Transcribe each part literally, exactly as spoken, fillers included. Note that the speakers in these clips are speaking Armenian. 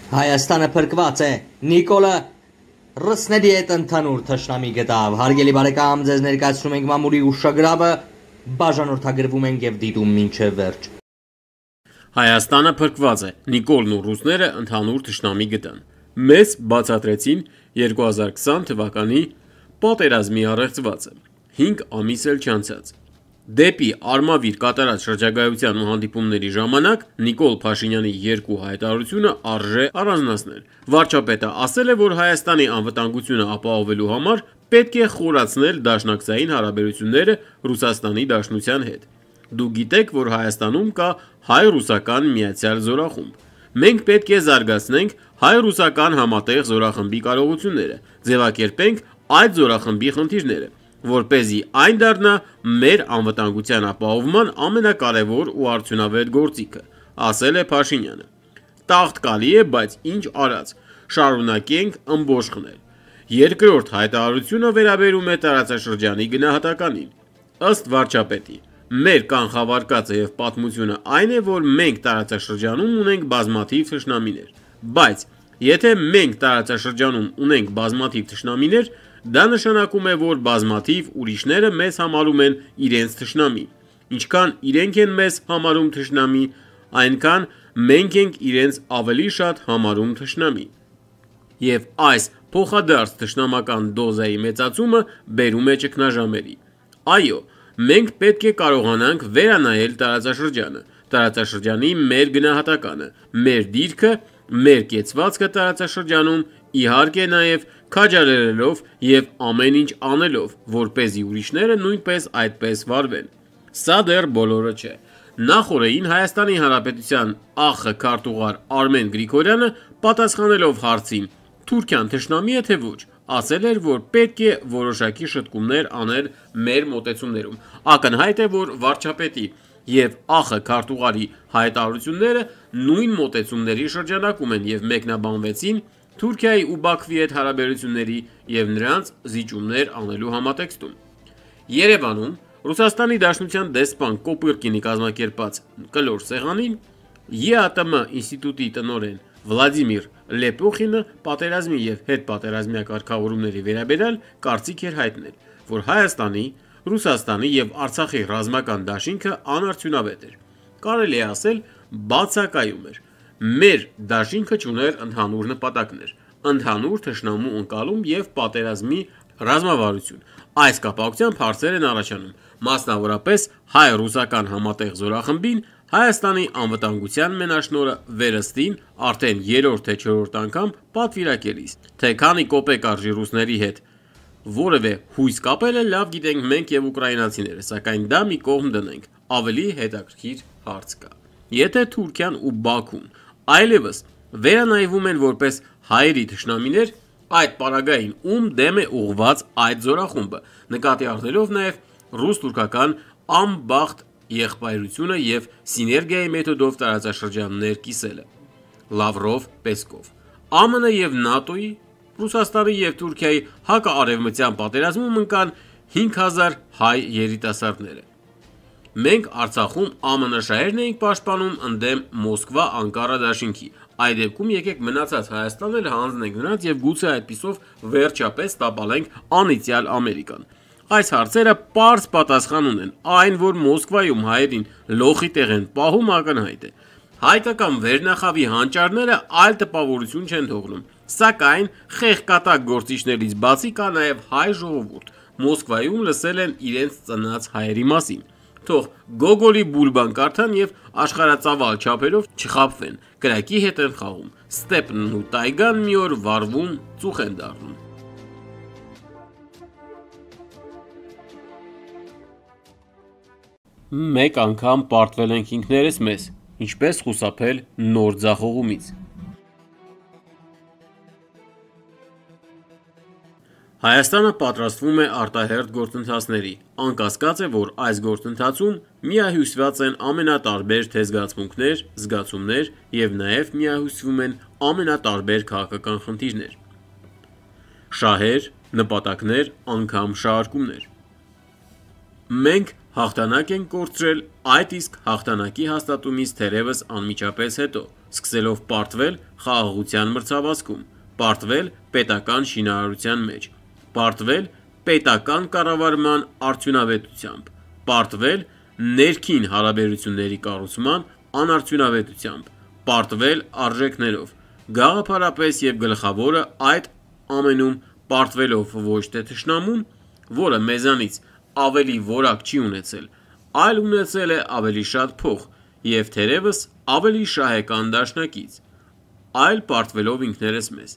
Հայաստանը փրկված է, Նիկոլը ռսների հետ ընդհանուր թշնամի գտավ, հարգելի բարեկամ, ձեզ ներկայացնում ենք մամուլի ուշագրավը, բաժանորդագրվում ենք և դիտում մինչև վերջ։ Հայաստանը փրկված է, Նիկոլն ու ռուսները ընդհանուր թշնամի գտան։ Մեզ բացատրեցին երկու հազար քսան թվականի պատերազմի առեղծվածը, հինգ ամիս էլ չանցած։ Դեպի Արմավիր կատարած շրջագայության ու հանդիպումների ժամանակ Նիկոլ Փաշինյանի երկու հայտարարությունը արժե առանձնացնել։ Վարչապետը ասել է, որ Հայաստանի անվտանգությունը ապահովելու համար պետք է խորացնել դաշնակցային հարաբերությունները Ռուսաստանի Դաշնության հետ։ Դուք գիտեք, որ Հայաստանում կա հայ-ռուսական միացյալ զորախումբ։ Մենք պետք է զարգացնենք հայ-ռուսական համատեղ զորախմբի կարողությունները, ձևակերպենք այդ զորախմբի խնդիրները, որպեսզի այն դառնա մեր անվտանգության ապահովման ամենակարևոր ու արդյունավետ գործիքը, ասել է Փաշինյանը։ Տաղտկալի է, բայց ինչ արած, շարունակենք ըմբոշխ խնել։ Երկրորդ հայտարարությունը վերաբերում է տարածաշրջանի գնահատականին։ Ըստ վարչապետի, մեր կանխավարկածը և պատմությունը այն է, որ մենք տարածաշրջանում ունենք բազմաթիվ թշնամիներ, բայց եթե մենք տարածաշրջանում ունենք բազմաթիվ թշնամիներ, դա նշանակում է, որ բազմաթիվ ուրիշները մեզ համարում են իրենց թշնամի։ Ինչքան իրենք են մեզ համարում թշնամի, այնքան մենք ենք իրենց ավելի շատ համարում թշնամի։ Եվ այս փոխադարձ թշնամական դոզայի մեծացումը բերում է ճգնաժամերի։ Այո, մենք պետք է կարողանանք վերանայել տարածաշրջանը, տարածաշրջանի մեր գնահատականը, մեր դիրքը, մեր կեցվածքը տարածաշրջանում, իհարկե նաև քաջալերելով և ամեն ինչ անելով, որպեսզի ուրիշները նույնպես այդպես վարվեն։ Սա դեռ բոլորը չէ։ Նախօրեին Հայաստանի Հանրապետության ԱԽ քարտուղար Արմեն Գրիգորյանը, պատասխանելով հարցին Թուրքիան թշնամի է թե ոչ, ասել էր, որ պետք է որոշակի շտկումներ անել մեր մոտեցումներում։ Ակնհայտ է, որ վարչապետի և ԱԽ քարտուղարի հայտարարությունները նույն մոտեցումների շրջանակում են և մեկնաբանվեցին Թուրքիայի ու Բաքվի հետ հարաբերությունների և նրանց զիջումներ անելու համատեքստում։ Երևանում Ռուսաստանի Դաշնության դեսպան Կոպырկինի կազմակերպած կլոր սեղանին ԵԱՏՄ ինստիտուտի տնօրեն Վլադիմիր Լեպոխինը պատերազմի և հետպատերազմյա կարգավորումների վերաբերյալ կարծիք էր հայտնել, որ Հայաստանի, Ռուսաստանի և Արցախի ռազմական դաշինքը անարդյունավետ էր։ Կարելի է ասել, բացակայում էր։ Մեր դաշինքը չուներ ընդհանուր նպատակներ, ընդհանուր թշնամու ընկալում և պատերազմի ռազմավարություն։ Այս կապակցությամբ հարցեր են առաջանում, մասնավորապես հայ-ռուսական համատեղ զորախմբին Հայաստանի անվտանգության մենաշնորհը վերստին արդեն երրորդ թե չորրորդ անգամ պատվիրակելիս, թե քանի կոպեկ արժի ռուսների հետ որևէ հույս կապելը լավ գիտենք մենք և ուկրաինացիները, սակայն դա մի կողմ դնենք, ավելի հետաքրքիր հարց կա։ Եթե Թուրքիան ու Բաքուն այլևս վերանայվում են որպես հայերի թշնամիներ, այդ պարագային ում դեմ է ուղղված այդ զորախումբը, նկատի առնելով նաև ռուս-թուրքական անբախտ եղբայրությունը և սիներգիայի մեթոդով տարածաշրջաններ կիսելը։ Լավրով, Պեսկով։ ԱՄՆ և ՆԱՏՕ-ի, Ռուսաստանի և Թուրքիայի հակաարևմտյան պատերազմում ընկան հինգ հազար հայ երիտասարդները։ Մենք Արցախում ԱՄՆ շահերն էինք պաշտպանում ընդդեմ Մոսկվա-Անկարա դաշինքի, այդ դեպքում եկեք մնացած Հայաստանն էլ հանձնենք նրանց և գուցե այդպիսով վերջապես տապալենք անիծյալ Ամերիկան։ Այս հարցերը պարզ պատասխան ունեն, այն, որ Մոսկվայում հայերին լոխի տեղ են պահում, ակնհայտ է։ Հայկական վերնախավի հանճարները այլ տպավորություն չեն թողնում, սակայն խեղկատակ գործիչներից բացի կա նաև հայ ժողովուրդ, Մոսկվայում լսել են իրենց ծնած հայերի մասին։ Թող Գոգոլի Բուլբան կարդան և աշխարհածավալ չափերով չխաբվեն, կրակի հետ են խաղում, ստեպնն ու տայգան մի օր վառվում, ծուխ են դառնում։ Մեկ անգամ պարտվել ենք ինքներս մեզ, ինչպես խուսափել նոր ձախողումից։ Հայաստանը պատրաստվում է արտահերթ գործընթացների, անկասկած է, որ այս գործընթացում միահյուսված են ամենատարբեր թե զգացմունքներ, զգացումներ և նաև միահյուսվում են ամենատարբեր քաղաքական խնդիրներ, շահեր, նպատակներ, անգամ շահարկումներ։ Մենք հաղթանակ ենք կորցրել այդ իսկ հաղթանակի հաստատումից թերևս անմիջապես հետո, սկսելով պարտվել խաղաղության մրցավազքում, պարտվել պետական շինարարության մեջ, պարտվել պետական կառավարման արդյունավետությամբ, պարտվել ներքին հարաբերությունների կառուցման անարդյունավետությամբ, պարտվել արժեքներով, գաղափարապես և գլխավորը այդ ամենում պարտվելով ոչ թե թշնամուն, որը մեզանից ավելի որակ չի ունեցել, այլ ունեցել է ավելի շատ փող և թերևս ավելի շահեկան դաշնակից, այլ պարտվելով ինքներս մեզ։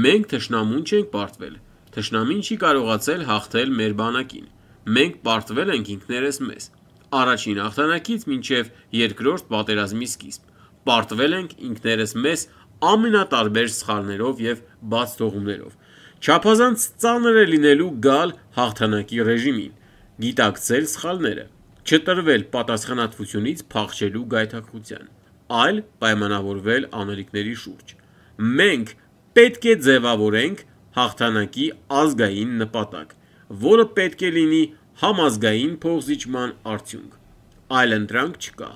Մենք թշնամուն չենք պարտվել, թշնամին չի կարողացել հաղթել մեր բանակին, մենք պարտվել ենք ինքներս մեզ, առաջին հաղթանակից մինչև երկրորդ պատերազմի սկիզբ, պարտվել ենք ինքներս մեզ ամենատարբեր սխալներով և բացթողումներով, չափազանց ծանր է լինելու գալ հաղթանակի ռեժիմին, գիտակցել սխալները, չտրվել պատասխանատվությունից փախչելու գայթակղության, այլ պայմանավորվել անելիքների շուրջ։ Մենք պետք է ձևավորենք հաղթանակի ազգային նպատակ, որը պետք է լինի համազգային փոխզիջման արդյունք։ Այլընտրանք չկա,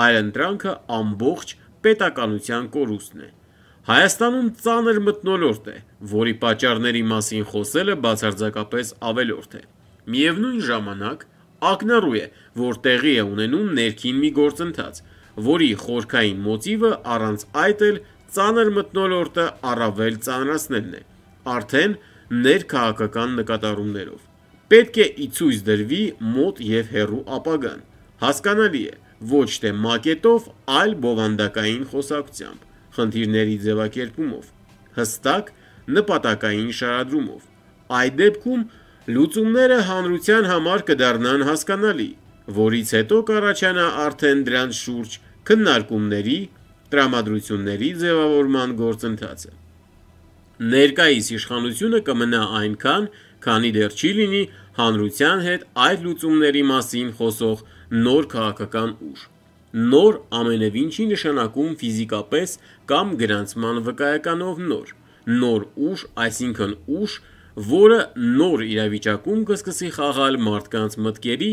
այլընտրանքը ամբողջ պետականության կորուստն է։ Հայաստանում ծանր մթնոլորտ է, որի պատճառների մասին խոսելը բացարձակապես ավելորդ է։ Միևնույն ժամանակ ակնառու է, որ տեղի է ունենում ներքին մի գործընթաց, որի խորքային մոտիվը առանց այդ էլ ծանր մթնոլորտը առավել ծանրացնելն է, արդեն ներքաղաքական նկատառումներով։ Պետք է ի ցույց դրվի մոտ և հեռու ապագան, հասկանալի է, ոչ թե մակետով, այլ բովանդակային խոսակցությամբ, խնդիրների ձևակերպումով, հստակ նպատակային շարադրումով։ Այդ դեպքում լուծումները հանրության համար կդառնան հասկանալի, որից հետո կառաջանա արդեն դրանց շուրջ քննարկումների, տրամադրությունների ձևավորման գործընթացը։ Ներկայիս իշխանությունը կմնա այնքան, քանի դեռ չի լինի հանրության հետ այդ լուծումների մասին խոսող նոր քաղաքական ուժ։ Նոր ամենևին չի նշանակում ֆիզիկապես կամ գրանցման վկայականով նոր, նոր ուժ, այսինքն ուժ, որը նոր իրավիճակում կսկսի խաղալ մարդկանց մտքերի,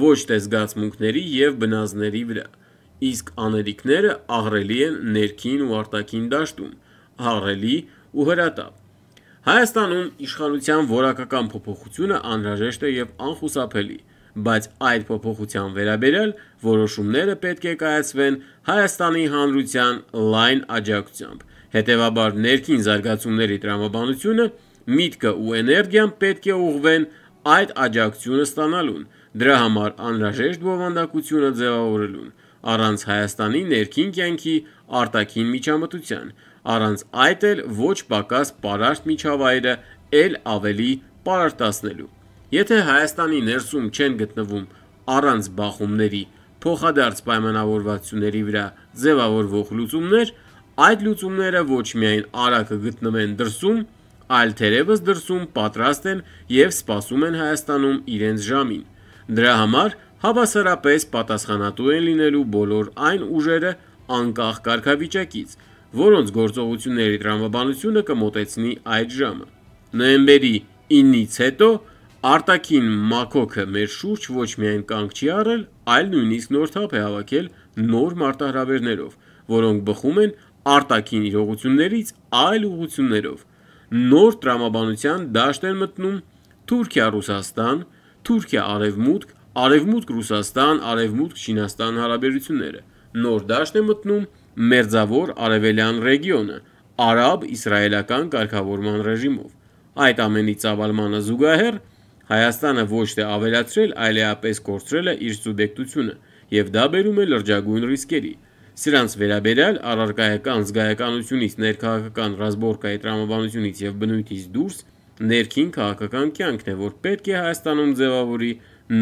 ոչ թե զգացմունքների և բնազդների վրա, իսկ անելիքները ահռելի են ներքին ու արտաքին դաշտում, ահռելի ու հրատապ։ Հայաստանում իշխանության որակական փոփոխությունը անհրաժեշտ է և անխուսափելի, բայց այդ փոփոխության վերաբերյալ որոշումները պետք է կայացվեն Հայաստանի հանրության լայն աջակցությամբ, հետևաբար ներքին զարգացումների տրամաբանությունը, միտքը ու էներգիան պետք է ուղղվեն այդ աջակցությունը ստանալուն, դրա համար անհրաժեշտ բովանդակությունը ձևավորելուն, առանց Հայաստանի ներքին կյանքի արտաքին միջամտության, առանց այդ էլ ոչ պակաս պարարտ միջավայրը էլ ավելի պարարտացնելու։ Եթե Հայաստանի ներսում չեն գտնվում առանց բախումների, փոխադարձ պայմանավորվածությունների վրա ձևավորվող լուծումներ, այդ լուծումները ոչ միայն արագ կգտնվեն դրսում, այլ թերևս դրսում պատրաստ են և սպասում են Հայաստանում իրենց ժամին։ Դրա համար հավասարապես պատասխանատու են լինելու բոլոր այն ուժերը անկախ կարգավիճակից, որոնց գործողությունների տրամաբանությունը կմոտեցնի այդ ժամը։ Նոյեմբերի ինից հետո արտաքին մաքոքը մեր շուրջ ոչ միայն կանգ չի առել, այլ նույնիսկ նոր թափ է հավաքել նոր մարտահրավերներով, որոնք բխում են արտաքին իրողություններից այլ ուղղություններով։ Նոր տրամաբանության դաշտ են մտնում Թուրքիա-Ռուսաստան, Թուրքիա-Արևմուտք, Արևմուտք-Ռուսաստան, Արևմուտք-Չինաստան հարաբերությունները, նոր դաշտ է մտնում Մերձավոր Արևելյան ռեգիոնը արաբ-իսրայելական կարգավորման ռեժիմով։ Այդ ամենի ծավալմանը զուգահեռ Հայաստանը ոչ թե ավելացրել, այլևս կորցրել է իր սուբյեկտությունը, և դա բերում է լրջագույն ռիսկերի։ Սրանց վերաբերյալ առարկայական զգայականությունից, ներքաղաքական ռազմորկայի տրամաբանությունից և բնույթից դուրս ներքին քաղաքական կյանքն է, որ պետք է Հայաստանում ձևավորի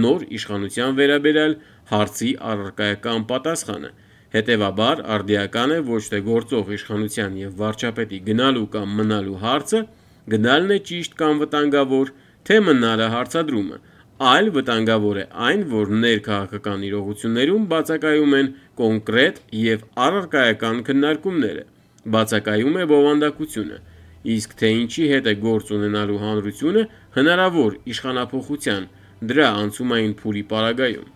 նոր իշխանության վերաբերյալ հարցի առարկայական պատասխանը։ Հետևաբար արդիական է ոչ թե գործող իշխանության և վարչապետի գնալու կամ մնալու հարցը, գնալն է ճիշտ կամ վտանգավոր, թե մնալը հարցադրումը, այլ վտանգավոր է այն, որ ներքաղաքական իրողություններում բացակայում են կոնկրետ և առարկայական քննարկումները, բացակայում է բովանդակությունը, իսկ թե ինչի հետ է գործ ունենալու հանրությունը հնարավոր իշխանափոխության, դրա անցումային փուլի պարագայում։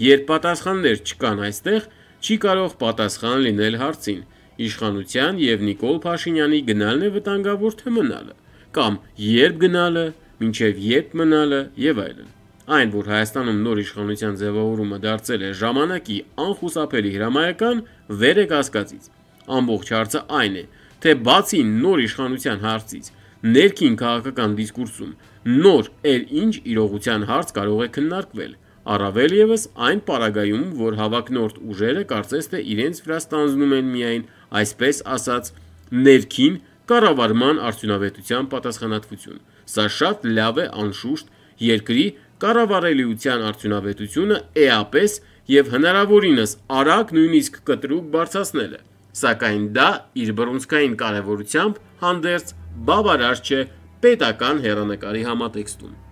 Երբ պատասխաններ չկան այստեղ, չի կարող պատասխան լինել հարցին, իշխանության եւ Նիկոլ Փաշինյանի գնալն է վտանգավոր թե մնալը, կամ երբ գնալը, մինչև երբ մնալը եւ այլն։ Այն, որ Հայաստանում նոր իշխանության ձևավորումը դարձել է ժամանակի անխուսափելի հրամայական, վեր է կասկածից։ Ամբողջ հարցը այն է, թե բացի նոր իշխանության հարցից, ներքին քաղաքական դիսկուրսում նոր էլ ինչ իրողության հարց կարող է քննարկվել, առավել ևս այն պարագայում, որ հավակնորդ ուժերը կարծես թե իրենց վրա ստանձնում են միայն, այսպես ասած, ներքին կառավարման արդյունավետության պատասխանատվություն։ Սա շատ լավ է, անշուշտ, երկրի կառավարելիության արդյունավետությունը էապես եւ հնարավորինս արագ, նույնիսկ կտրուկ բարձրացնելը, սակայն դա իր բռունցքային կարևորությամբ հանդերձ բավարար չէ պետական հեռանկարի համատեքստում։